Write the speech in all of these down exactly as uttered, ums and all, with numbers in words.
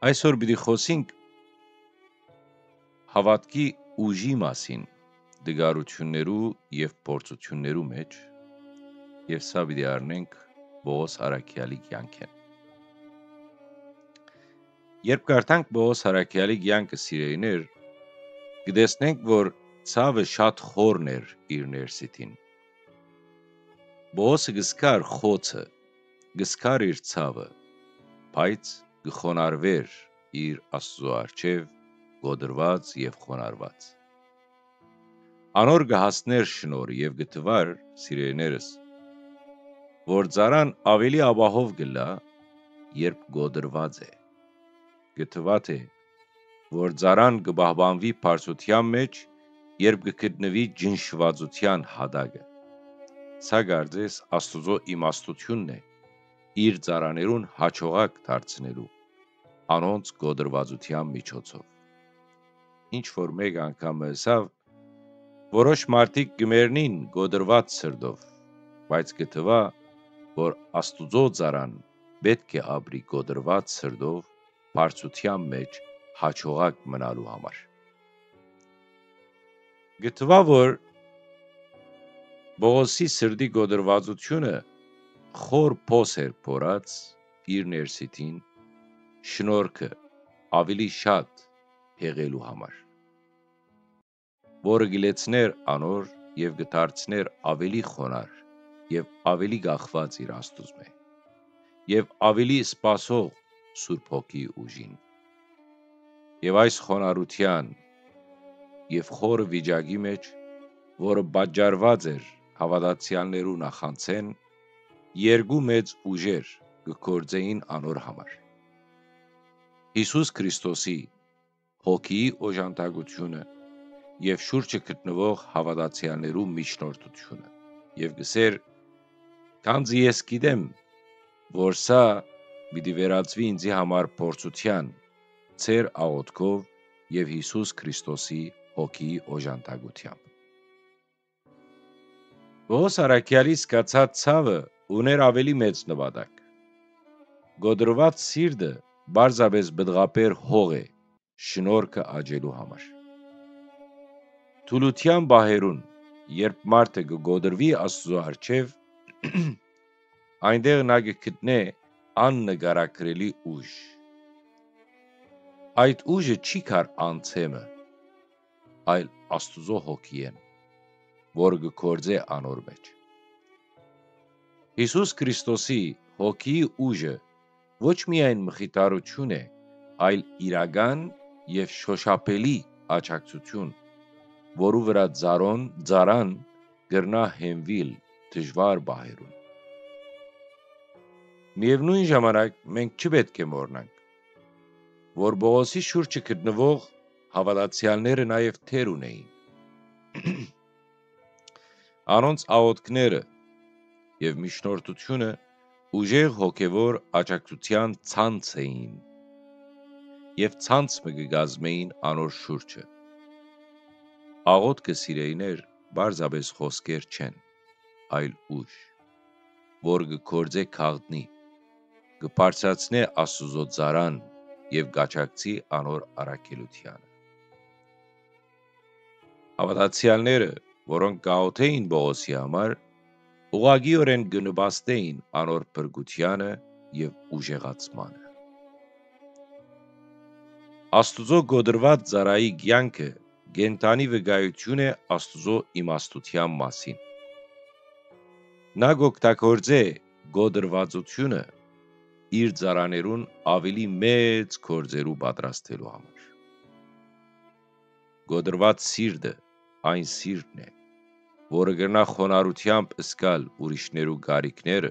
Այսօր պիտի խօսենք հաւատքի ուժի մասին տկարութիւններու եւ փորձութիւններու մէջ, եւ սա պիտի առնենք Պողոս առաքեալի կեանքէն։ Երբ կարդանք Պողոս առաքեալի կեանքը, սիրելիներ, կը տեսնենք, որ ցաւը շատ խորն էր իր ներսիդին։ Պողոսը կը զգար խոցը, կը զգար իր ցաւը, բայց կը խոնարհուէր իր Աստուծոյ առջեւ կոտրուած եւ խոնարհուած։ Անոր կը հասնէր շնորհ եւ կը թուար, սիրելիներս, որ ծառան աւելի ապահով կ'ըլլայ, երբ կոտրուած է։ Կը թուայ թէ որ ծառան կը պահպանուի բարձրութեան մէջ, երբ կը գտնուի ճնշուածութեան յատակը։ Սա կարծես Աստուծոյ իմաստութիւնն է, իր ծառաներուն յաջողակ դարձնելու, անոնց կոտրուածութեան միջոցով։ Ինչ որ մէկ անգամ մը ըսաւ, որոշ մարդիկ կը մեռնին կոտրուած սրտով, բայց կը թուայ, որ Աստուծոյ ծառան պէտք է ապրի կոտրուած սրտով, բարձրութեան մէջ յաջողակ մնալու համար։ Կը թուայ, որ Պողոսի սրտի կոտրուածութիւնը խոր փոս էր փորած իր ներսիդին, շնորհքը աւելի շատ յեղելու համար, որը կը լեցնէր անոր եւ կը դարձնէր աւելի խոնարհ եւ աւելի կախուած իր Աստուծմէ եւ աւելի սպասող Սուրբ Հոգիի ուժին։ Եւ այս խոնարհութեան եւ խորը վիճակի մէջ, որը պատճառուած էր հաւատացեալներու նախանձէն, երկու մեծ ուժեր կը գործէին անոր համար։ Յիսուս Քրիստոսի Հոգիի օժանդակութիւնը եւ շուրջը գտնուող հաւատացեալներու միջնորդութիւնը, եւ կ'ըսէր. «Քանզի ես գիտեմ, որ սա պիտի վերածուի ինծի համար փորձութեան, ձեր աղօթքով եւ Յիսուս Քրիստոսի Հոգիի օժանդակութեամբ»։ Պողոս առաքեալի զգացած ցաւը ունէր աւելի մեծ նպատակ։ Կոտրուած սիրտը պարզապէս պտղաբեր հող է շնորհքը աճելու համար։ Թուլութեան պահերուն, երբ մարդը կը կոտրուի Աստուծոյ առջեւ, այնտեղ նա կը գտնէ աննկարագրելի ուժ։ Այդ ուժը չի գար անձէ մը, այլ Աստուծոյ Հոգիէն, որ կը գործէ անոր մէջ։ Յիսուս Քրիստոսի Հոգիի ուժը ոչ միայն մխիթարութիւն է, այլ իրական եւ շոշափելի աջակցութիւն, որու վրայ ծառոն-, ծառան կրնայ հենուիլ դժուար պահերուն։ Միեւնոյն ժամանակ մենք չի պէտք է մոռնանք, որ Պողոսի շուրջը գտնուող հաւատացեալները նաեւ դեր ունէին։ Անոնց աղօթքները եւ միջնորդութիւնը ուժեղ հոգեւոր աջակցութեան ցանց էին, եւ ցանց մը կը կազմէին անոր շուրջը։ Աղօթքը, սիրելիներ, պարզապէս խօսքեր չեն, այլ ուժ, որ կը գործէ քաղտնի, կը բարձրացնէ Աստուծոյ ծառան եւ կ'աջակցի անոր առաքելութեանը։ Հաւատացեալները, որոնք կ'աղօթէին Պողոսի համար, ուղղակիօրէն կը նպաստէին անոր փրկութեանը եւ ուժեղացմանը։ Աստուծոյ կոտրուած ծառայի կեանքը կենդանի վկայութիւն է Աստուծոյ իմաստութեան մասին։ Նա կ'օգտագործէ կոտրուածութիւնը իր ծառաներուն աւելի մեծ գործերու պատրաստելու համար։ Կոտրուած սիրտը այն սիրտն է, որը կրնայ խոնարհութեամբ զգալ ուրիշներու կարիքները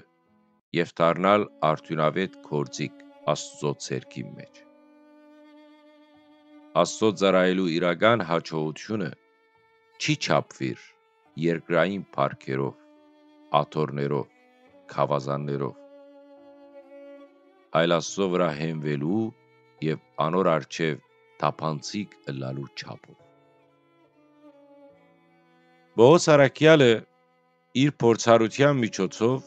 եւ դառնալ արդիւնաւէտ գործիք Աստուծոյ ցերկին մէջ։ Աստուծոյ ծառայելու իրական յաջողութիւնը չի չափուիր երկրային փառքերով, աթոռներով, գաւազաններով, այլ Աստուծոյ վրայ հենուելու եւ անոր առջեւ թափանցիկ ըլլալու չափով։ Պողոս առաքեալը իր փորձառութեան միջոցով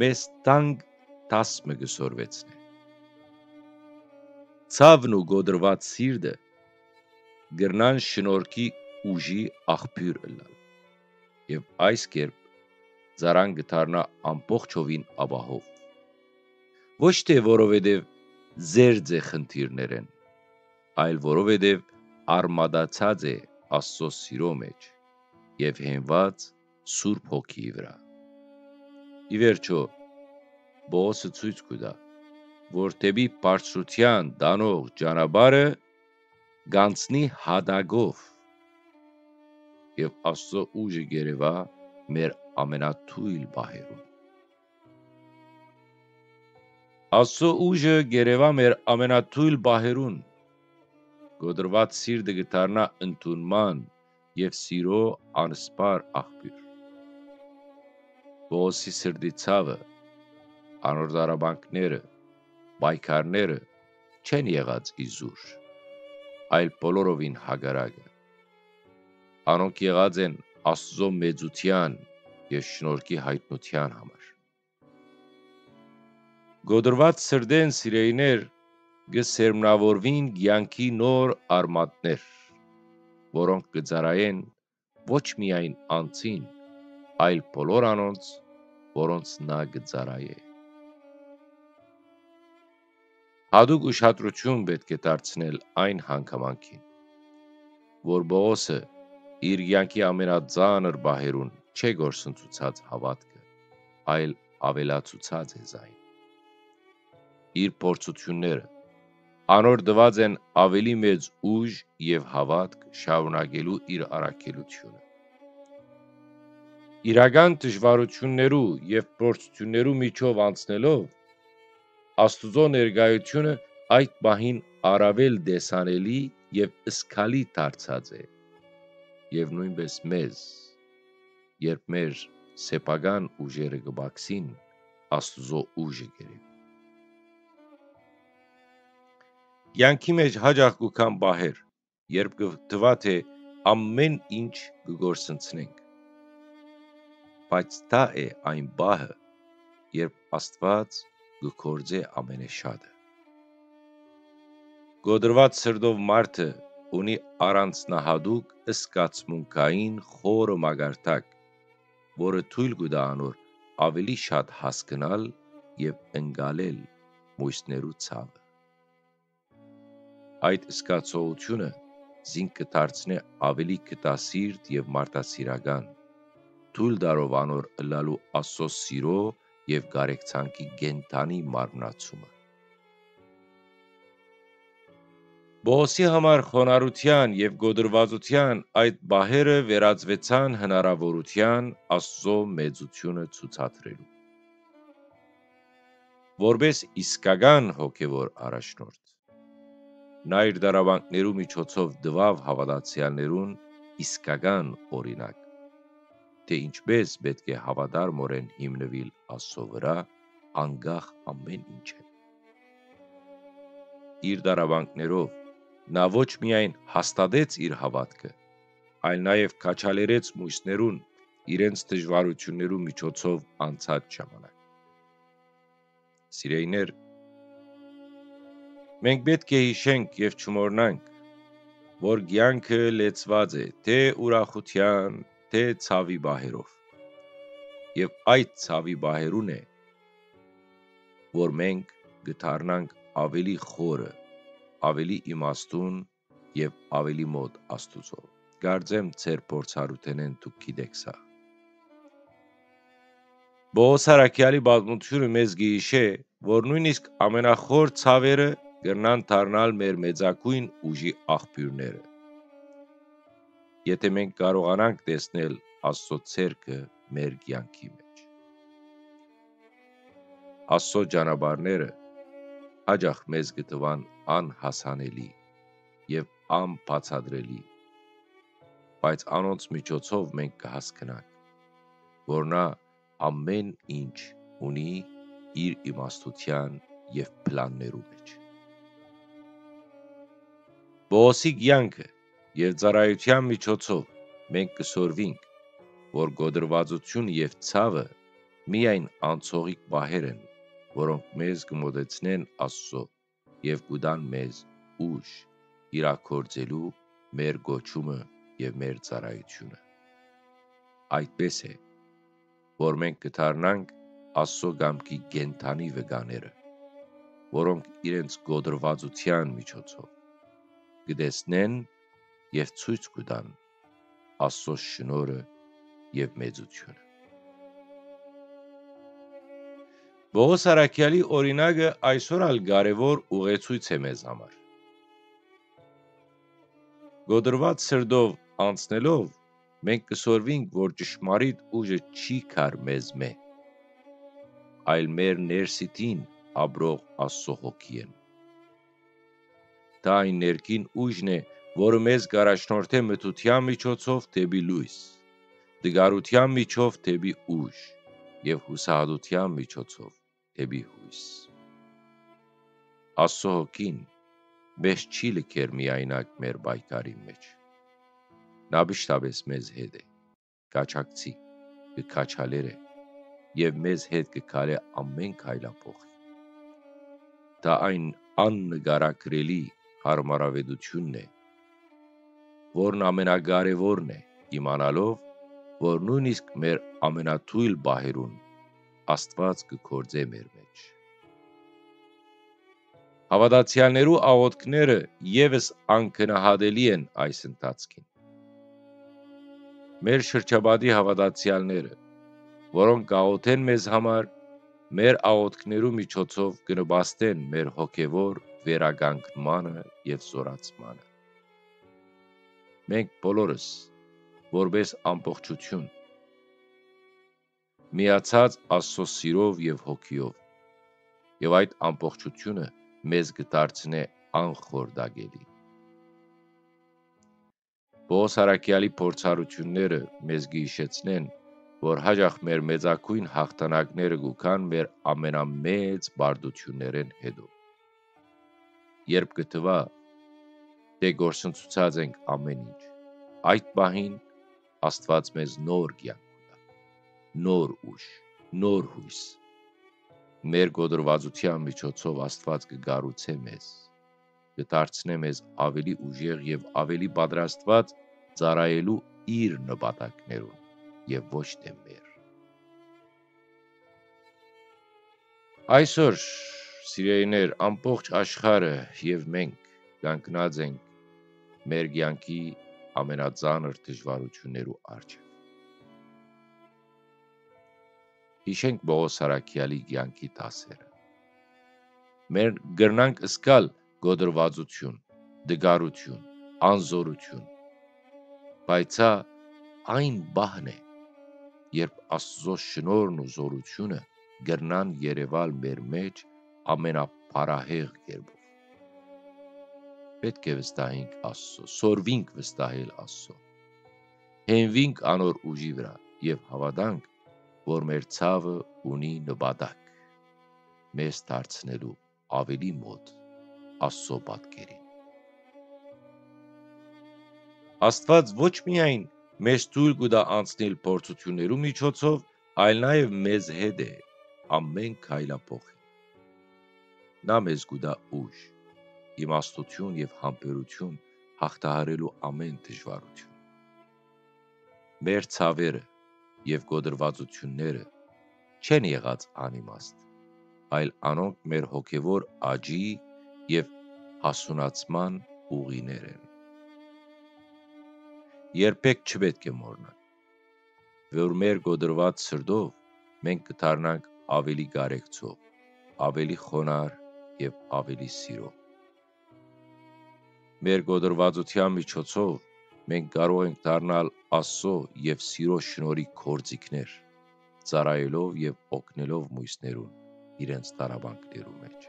մեզ թանկ դաս մը կը սորվեցնէ։ Ցաւն ու կոտրուած սիրտը կրնան շնորհքի ուժի աղբիւր ըլլալ, եւ այս կերպ ծառան կը դառնայ ամբողջովին ապահով։ Ոչ թէ որովհետեւ զերծ է խնդիրներէն, այլ որովհետեւ արմատացած է Աստուծոյ սիրոյ մէջ եւ հենուած Սուրբ Հոգիի վրայ։ Ի վերջոյ, Պողոսը ցոյց կու տայ, որ դէպի բարձրութեան տանող ճանապարհը կ'անցնի յատակով, եւ Աստուծոյ ուժը կ'երեւայ մեր ամենաթոյլ պահերուն։ Աստուծոյ ուժը կ'երեւայ մեր ամենաթոյլ պահերուն։ Կոտրուած սիրտը կը դառնայ ընդունման եւ սիրոյ անսպառ աղբիւր։ Պողոսի սրտի ցաւը, անոր տառապանքները, պայքարները չեն եղած իզուր, այլ բոլորովին հակառակը։ Անոնք եղած են Աստուծոյ մեծութեան եւ շնորհքի յայտնութեան համար։ Կոտրուած սրտէն, սիրելիներ, կը սերմնաւորուին կեանքի նոր արմատներ, որոնք կը ծառայեն ոչ միայն անձին, այլ բոլոր անոնց, որոնց նա կը ծառայէ։ Յատուկ ուշադրութիւն պէտք է դարձնել այն հանգամանքին, որ Պողոսը իր կեանքի ամենածանր պահերուն չէ կորսնցուցած հաւատքը, այլ աւելացուցած է զայն։ Իր փորձութիւնները անոր տուած են աւելի մեծ ուժ եւ հաւատք շարունակելու իր առաքելութիւնը։ Իրական դժուարութիւններու եւ փորձութիւններու միջով անցնելով, Աստուծոյ ներկայութիւնը այդ պահին առաւել տեսանելի եւ զգալի դարձած է, եւ նոյնպէս մեզ, երբ մեր սեփական ուժերը կը պակսին, Աստուծոյ ուժը կ'երեւի։ Կեանքի մէջ յաճախ կու գան պահեր, երբ կը թուայ թէ ամէն ինչ կը կորսնցնենք։ Բայց դա է այն պահը, երբ Աստուած կը գործէ ամենեշատը։ Կոտրուած սրտով մարդը ունի առանձնահատուկ զգացմունքային խորը մակարդակ, որը թոյլ կու տայ անոր աւելի շատ հասկնալ եւ ընկալել մոյսներու ցաւը։ Այդ զգացողութիւնը զինք կը դարձնէ աւելի գտասիրտ եւ մարդասիրական, թոյլ տալով անոր ըլլալու Աստուծոյ սիրոյ եւ կարեկցանքի կենդանի մարմնացումը։ Պողոսի համար խոնարհութեան եւ կոտրուածութեան այդ պահերը վերածուեցան հնարաւորութեան Աստուծոյ մեծութիւնը ցուցադրելու։ Որպէս իսկական հոգեւոր առաջնորդ, նա իր տառապանքներու միջոցով տուաւ հաւատացեալներուն իսկական օրինակ, թէ ինչպէս պէտք է հաւատարմօրէն հիմնուիլ Աստուծոյ վրայ, անկախ ամէն ինչէն։ Իր տառապանքներով նա ոչ միայն հաստատեց իր հաւատքը, այլ նաեւ քաջալերեց մոյսներուն իրենց դժուարութիւններու միջոցով անցած ժամանակ։ Սիրելիներ, մենք պէտք է յիշենք եւ չմոռնանք, որ կեանքը լեցուած է թէ ուրախութեան, թէ ցաւի պահերով։ Եւ այդ ցաւի պահերուն է, որ մենք կը դառնանք աւելի խորը, աւելի իմաստուն եւ աւելի մօտ Աստուծոյ։ Կարծեմ ձեր փորձառութենէն դուք գիտէք սա։ Պողոս առաքեալի պատմութիւնը մեզ կը յիշէ, որ նոյնիսկ ամենախոր ցաւերը կրնան դառնալ մեր մեծագոյն ուժի աղբիւրները, եթէ մենք կարողանանք տեսնել Աստուծոյ ձեռքը մեր կեանքի մէջ։ Աստուծոյ ճանապարհները յաճախ մեզ կը թուան անհասանելի եւ անբացատրելի, բայց անոնց միջոցով մենք կը հասկնանք, որ նա ամէն ինչ ունի իր իմաստութեան եւ պլաններու մէջ։ Պողոսի կեանքը եւ ծառայութեան միջոցով մենք կը սորվինք, որ կոտրուածութիւնը եւ ցաւը միայն անցողիկ պահեր են, որոնք մեզ կը մօտեցնեն Աստուծոյ եւ կու տան մեզ ուժ իրագործելու մեր կոչումը եւ մեր ծառայութիւնը։ Այդպէս է, որ մենք կը դառնանք Աստծո կամքի կենդանի վկաները, որոնք իրենց կոտրուածութեան միջոցով կը տեսնեն եւ ցոյց կու տան Աստծո շնորհը եւ մեծութիւնը։ Պողոս առաքեալի օրինակը այսօր ալ կարեւոր ուղեցոյց է մեզ համար։ Կոտրուած սրտով անցնելով, մենք կը սորվինք, որ ճշմարիտ ուժը չի գար մեզմէ, այլ մեր ներսիդին ապրող Աստծո հոգիէն։ Դա այն ներքին ուժն է, որը մեզ կ'առաջնորդէ մթության միջոցով դէպի լոյս, տկարութեան միջով դէպի ուժ եւ յուսահատութեան միջոցով դէպի յոյս։ Աստծո հոգին մեզ չի լքեր միայնակ մեր պայքարին մէջ։ Նա միշտապէս մեզ հետ է, կ'աջակցի, կը քաջալերէ եւ մեզ հետ կը քալէ ամէն քայլափոխի։ Դա այն աննկարագրելի յարմարաւէտութիւնն է, որն ամենակարեւորն է, իմանալով, որ նոյնիսկ մեր ամենաթոյլ պահերուն Աստուած կը գործէ մեր մէջ։ Հաւատացեալներու աղօթքները եւս անգնահատելի են այս ընթացքին։ Մեր շրջապատի հաւատացեալները, որոնք կ'աղօթեն մեզ համար, մեր աղօթքներու միջոցով կը նպաստեն մեր հոգեվոր վերականգնմանը եւ զորացմանը։ Մենք բոլորս, որպէս ամբողջութիւն, միացած Աստծո սիրով եւ հոգիով, եւ այդ ամբողջութիւնը մեզ կը դարձնէ անխորտակելի։ Պողոս առաքեալի փորձառութիւնները մեզ կը յիշեցնեն, որ յաճախ մեր մեծագոյն յաղթանակները կու գան մեր ամենամեծ պարտութիւններէն յետոյ։ Երբ կը թուայ, թէ կորսնցուցած ենք ամէն ինչ, այդ պահին Աստուած մեզ նոր կեանք կու տայ, նոր ուժ, նոր յոյս։ Մեր կոտրուածութեան միջոցով Աստուած կը կառուցէ մեզ, կը դարձնէ մեզ աւելի ուժեղ եւ աւելի պատրաստուած ծառայելու իր նպատակներուն եւ ոչ թէ մեր։ Այսօր, սիրելիներ, ամբողջ աշխարհը եւ մենք կանգնած ենք մեր կեանքի ամենածանր դժուարութիւններու առջեւ։ Յիշենք Պողոս առաքեալի կեանքի դասերը։ Մենք կրնանք զգալ կոտրուածութիւն, տկարութիւն, անզօրութիւն, բայց սա այն պահն է, երբ Աստուծոյ շնորհն ու զօրութիւնը կրնան երեւալ մեր մէջ ամենաբարահեղ կերպով։ Պէտք է վստահենք Աստուծոյ, սորվինք վստահել Աստուծոյ, յենուինք անոր ուժի վրայ եւ հաւատանք, որ մեր ցաւը ունի նպատակ՝ մեզ դարձնելու աւելի մօտ Աստուծոյ պատկերին։ Աստուած ոչ միայն մեզ թոյլ կու տայ անցնել փորձութիւններու միջոցով, այլ նաեւ մեզ հետ է ամէն քայլափոխին։ Նա մեզ կու տայ ուժ, իմաստութիւն եւ համբերութիւն յաղթահարելու ամէն դժուարութիւն։ Մեր ցաւերը եւ կոտրուածութիւնները չեն եղած անիմաստ, այլ անոնք մեր հոգեվոր աճի եւ հասունացման ուղիներ են։ Երբեք չպէտք է մոռնանք, որ մեր կոտրուած սրտով մենք կը դառնանք աւելի կարեկցող, աւելի խոնարհ եւ աւելի սիրող։ Մեր կոտրուածութեան միջոցով մենք կարող ենք դառնալ Աստծո եւ սիրո շնորհի գործիքներ, ծառայելով եւ օգնելով մոյսներուն իրենց տառապանքներու մէջ։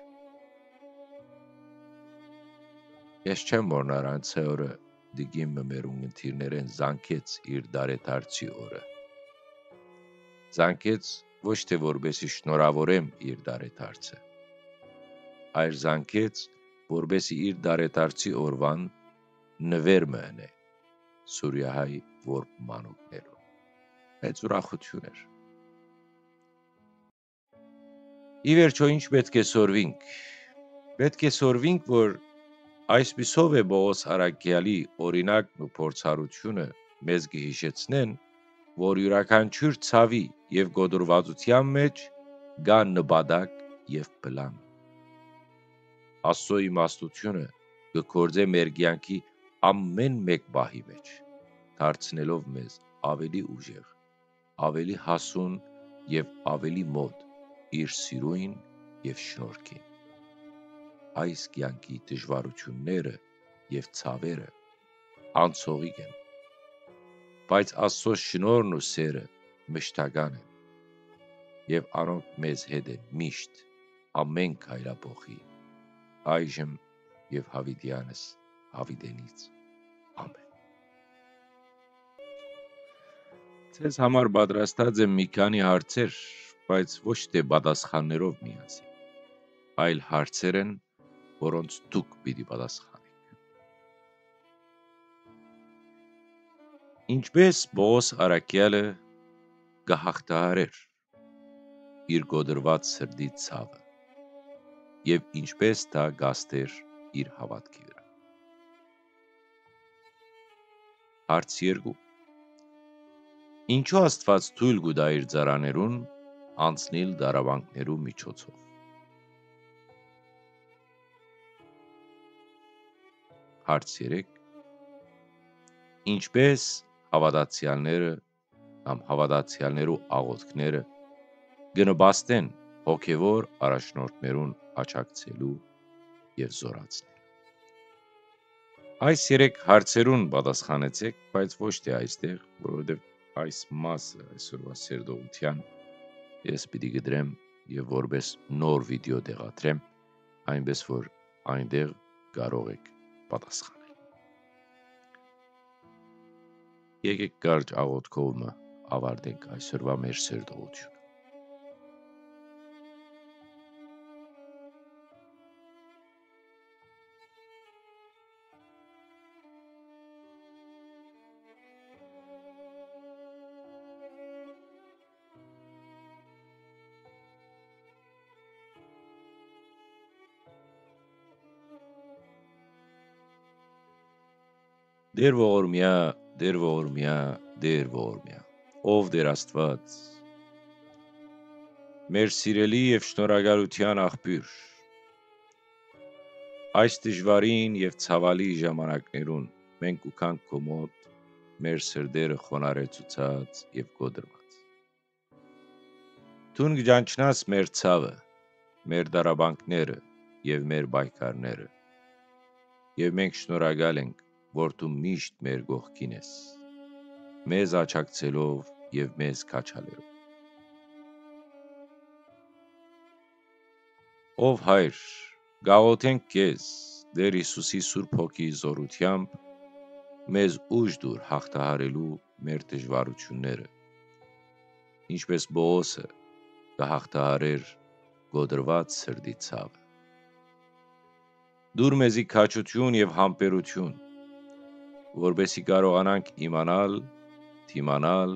Ես չեմ մոռնար անցայ օրը տիկին մը մեր ունգընտիրներէն զանգեց իր տարեդարձի օրը։ Զանգեց ոչ թէ որպեսի շնորհավորեմ իր տարեդարձը, այլ զանգեց, որպեսի իր տարեդարձի օրուան նուէր մը ընէ սուրիահայ որբ մանուկներուն։ Մեծ ուրախութիւն էր։ Ի վերջոյ, ինչ պէտք է սորվինք։ Պէտք է սորվինք, որ այսպիսով է Պողոս առաքեալի օրինակն ու փորձառութիւնը մեզ կը յիշեցնեն, որ իւրաքանչիւր ցաւի եւ կոտրուածութեան մէջ կայ նպատակ եւ պլան։ Աստծո իմաստութիւնը կը գործէ մեր կեանքի ամէն մէկ պահի մէջ, դարձնելով մեզ աւելի ուժեղ, աւելի հասուն եւ աւելի մօտ իր սիրոյն եւ շնորհքին։ Այս կեանքի դժուարութիւնները եւ ցաւերը անցողիկ են, բայց Աստծո շնորհն ու սերը մշտական են եւ անոնք մեզ հետ են միշտ, ամէն քայլափոխի, այժմ եւ յաւիտեանս յաւիտենից։ Ամէն։ Ձեզ համար պատրաստած եմ մի քանի հարցեր, բայց ոչ թէ պատասխաններով միասին, այլ հարցեր են, որոնց դուք պիտի պատասխանէք։ Ինչպէս Պողոս առաքեալը կը հաղթահարէր իր կոտրուած սրտի ցաւը եւ ինչպէս դա կ'ազդէր իր հաւատքի վրայ։ Հարց երկու։ Ինչու Աստուած թոյլ կու տայ իր ծառաներուն անցնիլ տառապանքներու միջոցով։ Հարց երեք։ Ինչպէս հաւատացեալները կամ հաւատացեալներու աղօթքները կը նպաստեն հոգեւոր առաջնորդներուն աջակցելու եւ զորացնել։ Այս երեք հարցերուն պատասխանեցէք, բայց ոչ թէ այստեղ, որովհետեւ այս մասը այսօրուայ սերտողութեան ես պիտի կտրեմ եւ որպէս նոր վիդէօ տեղադրեմ, այնպէս որ այնտեղ կարող էք պատասխանել։ Եկէք կարճ աղօթքով մը աւարտենք այսօրուայ մեր սերտողութիւնը։ Տէր ողորմեայ, Տէր ողորմեայ, Տէր ողորմեայ, ով Տէր Աստուած, մեր սիրելի եւ շնորհակալութեան աղբիւր, այս դժուարին եւ ցաւալի ժամանակներուն մենք կու գանք քո մօտ, մեր սրտերը խոնարհեցուցած եւ կոտրուած։ Դուն կը ճանչնաս մեր ցաւը, մեր տառապանքները եւ մեր պայքարները։ Եւ մենք շնորհակալ ենք, որ դու միշտ մեր կողքին ես, մեզ աջակցելով եւ մեզ քաջալերով։ Ով Հայր, կաղօթենք քեզ, Տէր Յիսուսի Սուրբ Հոգիի զօրութեամբ, մեզ ուժ տուր հաղթահարելու մեր դժուարութիւնները, ինչպէս Պողոսը կը հաղթահարէր կոտրուած սրտի ցաւը։ Տուր մեզի քաջութիւն եւ համբերութիւն, որպէսզի կարողանանք իմանալ, դիմանալ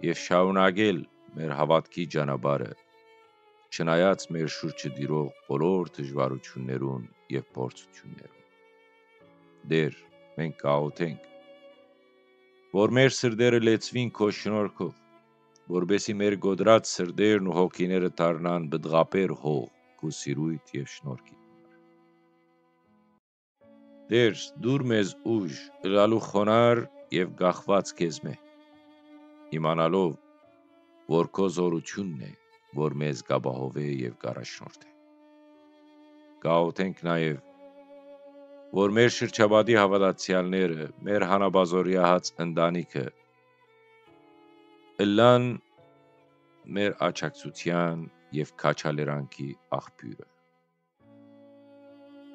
եւ շարունակել մեր հաւատքի ճանապարհը, չնայած մեր շուրջը տիրող բոլոր դժուարութիւններուն եւ փորձութիւններուն։ Տէր, մենք կաղօթենք, որ մեր սրտերը լեցուին քո շնորհքով, որպէսզի մեր կոտրած սրտերն ու հոգիները դառնան պտղաբեր հող քու սիրոյթ եւ շնորհքիդ համար։ Տէր, տուր մեզ ուժ ըլլալու խոնարհ եւ կախուած քեզմէ, իմանալով, որ քո զօրութիւնն է, որ մեզ կ'ապահովէ եւ կ'առաջնորդէ։ Կաղօթենք նաեւ, որ մեր շրջապատի հաւատացեալները, մեր հանապազօրեահաց ընտանիքը ըլլան մեր աջակցութեան եւ քաջալերանքի աղբիւրը։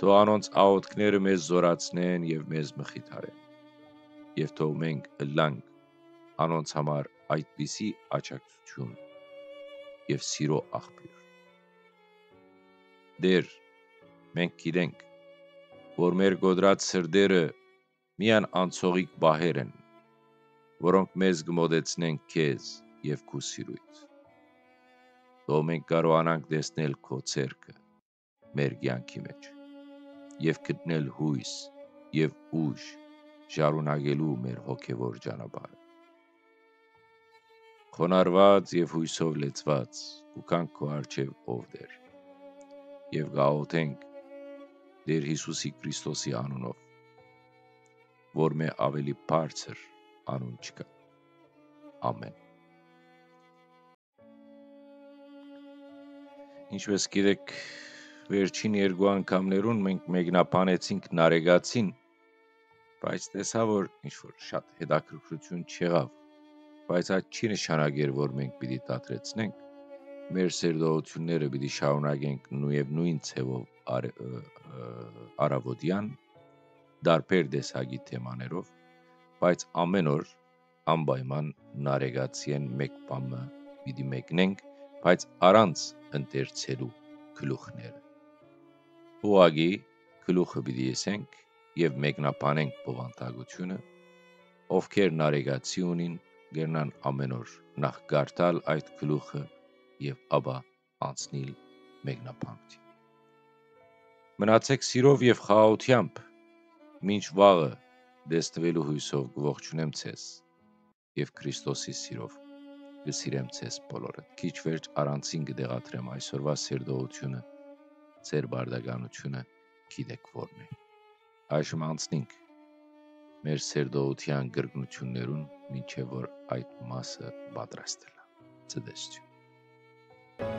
Թող անոնց աղօթքները մեզ զօրացնեն եւ մեզ մխիթարեն, եւ թող մենք ըլլանք անոնց համար այդպիսի աջակցութիւն եւ սիրո աղբիւր։ Տէր, մենք գիտենք, որ մեր կոտրած սրտերը միայն անցողիկ պահեր են, որոնք մեզ կը մոտեցնեն քեզ եւ քու սիրոյթ։ Թող մենք կարողանանք տեսնել քո ձեռքը, մեր կեանքի մէջ եւ գտնել յոյս եւ ուժ շարունակելու մեր հոգեվոր ճանապարհը։ Խոնարհուած եւ յոյսով լեցուած կու գանք քո առջեւ, ով Տէր, եւ կ'աղօթենք Տէր Յիսուսի Քրիստոսի անունով, որ մէ աւելի բարձր անուն չկայ։ Ամէն։ Ինչպէս գիտէք, վերջին երկու անգամներուն մենք մեկնաբանեցինք Նարեկացին, բայց տեսայ, որ ինչ որ շատ հետաքրքրութիւն չեղաւ, բայց այդ չի նշանակեր, որ մենք պիտի դադրեցնենք։ Մեր սերտողութիւնները պիտի շարունակենք նոյ եւ նոյն ձեւով արը-, ը, ը, առաւօտեան, տարբեր տեսակի թեմաներով, բայց ամէն օր անպայման Նարեկացիէն մէկ բան մը պիտի մեկնենք, բայց առանց ընթերցելու գլուխները։ Ուղղակի գլուխը պիտի եսենք եւ մեկնաբանենք բովանդակութիւնը, ովքեր Նարեկացի ունին, կրնան ամէն օր նախ կարդալ այդ գլուխը եւ ապա անցնիլ մեկնաբանութիւն։ Մնացէք սիրով եւ խաղաղութեամբ, մինչ վաղը տեսնուելու յոյսով կ'ողջունեմ ձեզ եւ Քրիստոսի սիրով կը սիրեմ ձեզ բոլորը։ Քիչ վերջ առանցին կը տեղադրեմ այսօրվա սերտողութիւնը, ձեր բարդականութիւնը գիտէք որն է։ Այժմ անցնինք մեր սերտողութեան կրկնութիւններուն, մինչեւ որ այդ մասը պատրաստ ըլլայ։ Ցտեսություն։